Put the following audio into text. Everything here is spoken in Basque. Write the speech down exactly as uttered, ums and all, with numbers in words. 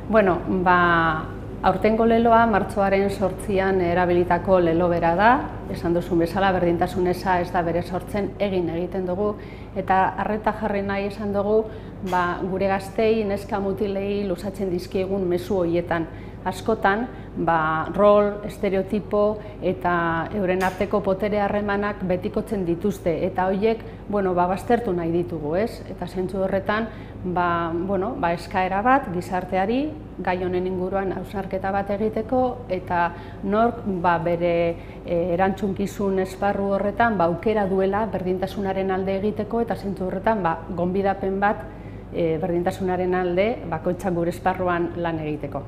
Bueno, ba, aurtengo leloa martxoaren sortzian erabilitako lelo bera da, esan duzun bezala berdintasun eza ez da bere sortzen egin egiten dugu, eta arreta jarri nahi esan dugu ba, gure gaztei, neska mutilei luzatzen dizkiegun mezu horietan. Askotan, ba, rol, estereotipo eta euren arteko potere harremanak betikotzen dituzte, eta horiek bueno, ba, baztertu nahi ditugu, ez? Eta zentzu horretan, ba, bueno, ba, eskaera bat gizarteari gai honen inguruan hausnarketa bat egiteko, eta nork ba, bere e, erantzunkizun esparru horretan ba, aukera duela berdintasunaren alde egiteko, eta zentzu horretan ba, gonbidapen bat e, berdintasunaren alde bakoitzak gure esparruan lan egiteko.